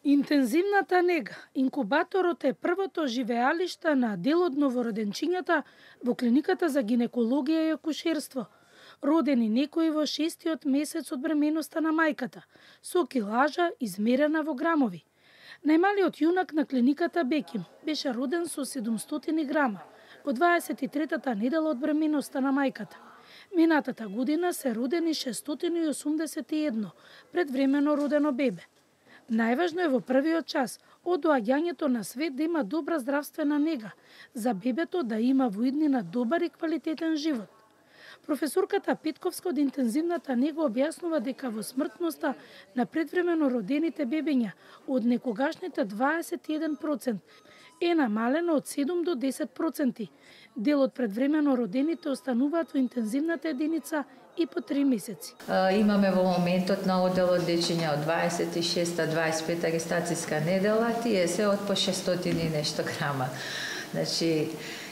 Интензивната нега, инкубаторот е првото живеалиште на дел од новороденчињата во клиниката за гинекологија и акушерство, родени некои во 6-тиот месец од бременоста на мајката, со килажа измерена во грамови. Најмалиот јунак на клиниката Беким беше роден со 700 грама во 23-та недела од бременоста на мајката. Минатата година се родени 681 предвремено родено бебе. Најважно е во првиот час од доаѓањето на свет да има добра здравствена нега, за бебето да има во иднина добар и квалитетен живот. Професорката Петковска од интензивната нега објаснува дека во смртноста на предвремено родените бебиња од некогашните 21% е намалено од 7 до 10%. Дел од предвремено родените остануваат во интензивната единица и по 3 месеци. Имаме во моментот на одделот дечиња од 26-25 гестацијска недела, тие се од по 600 и нешто грама. Значи,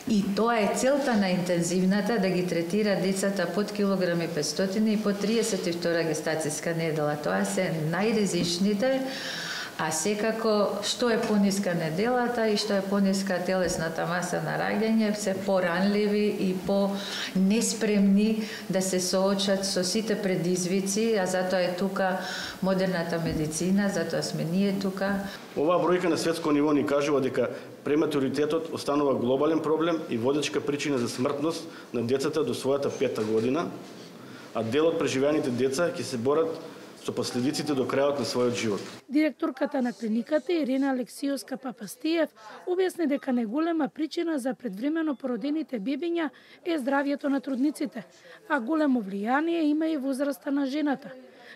и тоа е целта на интензивната, да ги третира децата под килограми 500 и под 32 гестацијска недела. Тоа се најризичните, а секако што е пониска неделата и што е пониска телесната маса на раѓање, се поранливи и по-неспремни да се соочат со сите предизвици, а затоа е тука модерната медицина, затоа сме ние тука. Оваа бројка на светско ниво ни кажува дека прематуритетот останува глобален проблем и водечка причина за смртност на децата до својата 5-та година, а дел од преживеаните деца ќе се борат со последиците до крајот на својот живот. Директорката на клиниката Ирена Алексиовска Папастиев објасни дека најголема причина за предвремено породените бебиња е здравјето на трудниците, а големо влијание има и возраста на жената.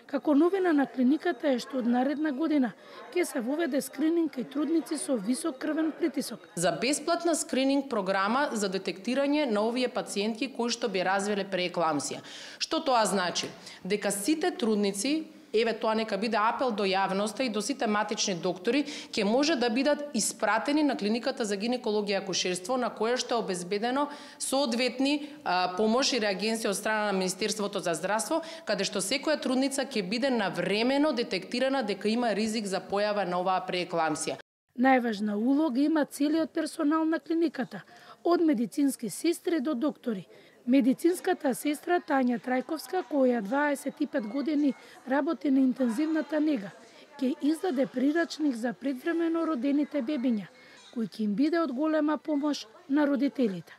Како новина на клиниката е што од наредна година ќе се воведе скрининг кај трудници со висок крвен притисок. За бесплатна скрининг програма за детектирање на овие пациентки кои што би развиле преекламсија. Што тоа значи? Дека сите трудници, еве тоа нека биде апел до јавноста и до сите матични доктори, ќе може да бидат испратени на клиниката за гинекологија и акушерство, на кое што е обезбедено соодветни помош и реагенции од страна на Министерството за здравство, каде што секоја трудница ќе биде навремено детектирана дека има ризик за појава на оваа преекламсија. Најважна улога има целиот персонал на клиниката, од медицински сестри до доктори. Медицинската сестра Тања Трајковска, која 25 години работи на интензивната нега, ќе издаде прирачник за предвремено родените бебиња, кој ќе им биде од голема помош на родителите.